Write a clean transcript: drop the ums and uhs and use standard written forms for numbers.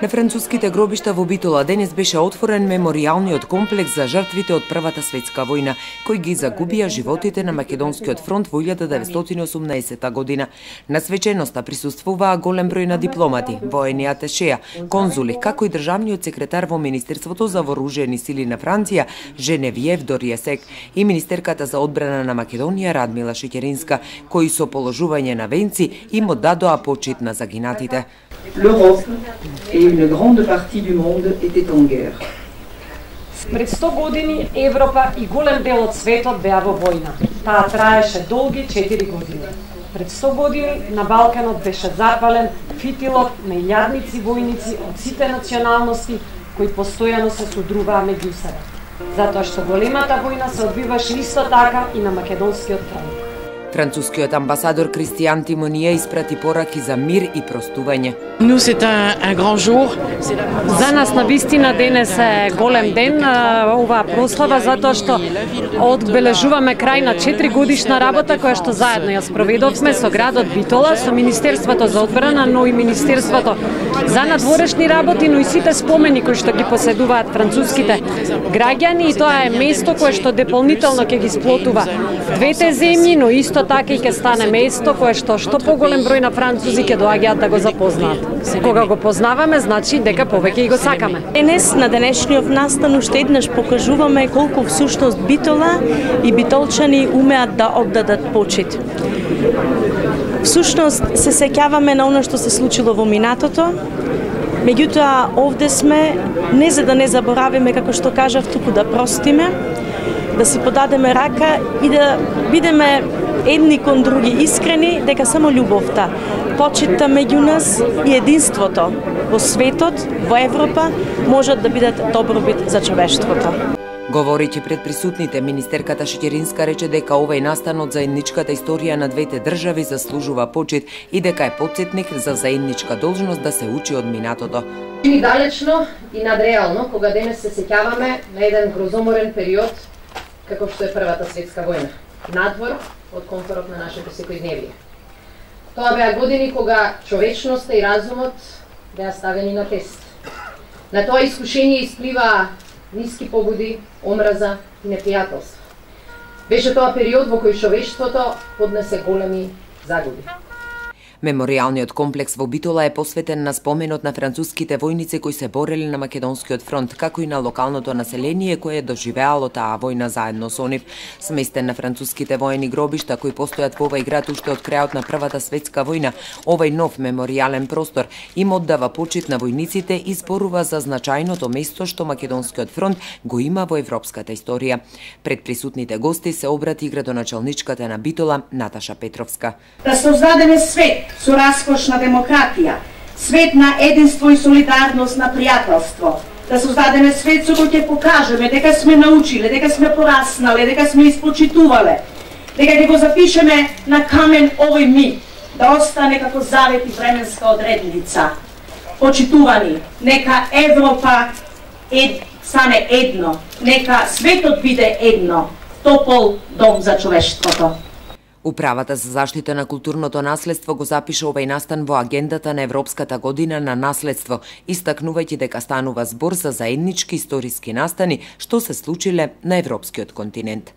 На француските гробишта во Битола денес беше отворен меморијалниот комплекс за жртвите од Првата светска војна, кои ги загубија животите на Македонскиот фронт во 1918 година. На свеченоста присуствуваа голем број на дипломати, воени аташеа, конзули, како и државниот секретар во Министерството за вооружени сили на Франција, Женевиев Дориесек, и министерката за одбрана на Македонија Радмила Шеќеринска, кои со положување на венци им оддадоа почит на загинатите. L'Europe et une grande partie du monde étaient en guerre. Пред 100 години Европа и голем дел од светот беа во војна. Таа траеше долги 4 години. Пред 100 години на Балканот беше запален фитилот на илјадници војници од сите националности кои постојано се содруваа меѓу себе. Затоа што големата војна се одбиваше исто така и на македонскиот фронт. Францускиот амбасадор Кристијан Тимонија испрати пораки за мир и простување. Nous c'est un grand jour. За нас на вистина денес е голем ден, оваа прослава затоа што одбележуваме крај на 4 годишна работа која што заедно ја спроведовме со градот Битола, со Министерството за одбрана, но и Министерството за надворешни работи, но и сите спомени кои што ги поседуваат француските граѓани, и тоа е место кое што дополнително ќе ги сплотува двете земји, но исто така и ќе стане место кое што поголем број на французи ќе доаѓаат да го запознаат. Кога го познаваме, значи дека повеќе и го сакаме. Денес на денешниот настан уште еднаш покажуваме колку всушност Битола и битолчани умеат да оддадат почит. Всушност се сеќаваме на она што се случило во минатото. Меѓутоа овде сме не за да не заборавиме, како што кажав, туку да простиме, да си подадеме рака и да бидеме едни кон други искрени, дека само љубовта, почитта меѓу нас и единството во светот, во Европа, можат да бидат добробит за човештвото. Говорејќи пред присутните, министерката Шеќеринска рече дека овој настан од заедничката историја на двете држави заслужува почит и дека е потсетник за заедничка должност да се учи од минатото. Чини далечно и надреално кога денес се сеќаваме на еден грозоморен период како што е Првата светска војна, надвор од комфорот на нашето секојдневие. Тоа беа години кога човечноста и разумот беа ставени на тест. На тоа искушение исплива ниски побуди, омраза и непријателство. Беше тоа период во кој човештвото поднесе големи загуби. Меморијалниот комплекс во Битола е посветен на споменот на француските војници кои се бореле на Македонскиот фронт, како и на локалното население кое доживеало таа војна заедно со нив. Сместен на француските воени гробишта кои постојат во овој град уште од крајот на Првата светска војна, овој нов меморијален простор им оддава почит на војниците и зборува за значајното место што Македонскиот фронт го има во европската историја. Пред присутните гости се обрати градоначалничката на Битола Наташа Петровска. Да создадеме свет со раскошна демократија, свет на единство и солидарност, на пријателство, да создадеме свет со кој ќе покажеме дека сме научиле, дека сме пораснале, дека сме испочитувале, дека ќе го запишеме на камен овој миг, да остане како завет и временска одредница. Почитувани, нека Европа стане едно, нека светот биде едно, топол дом за човештвото. Управата за заштита на културното наследство го запиша овој настан во агендата на Европската година на наследство, истакнувајќи дека станува збор за заеднички историски настани што се случиле на европскиот континент.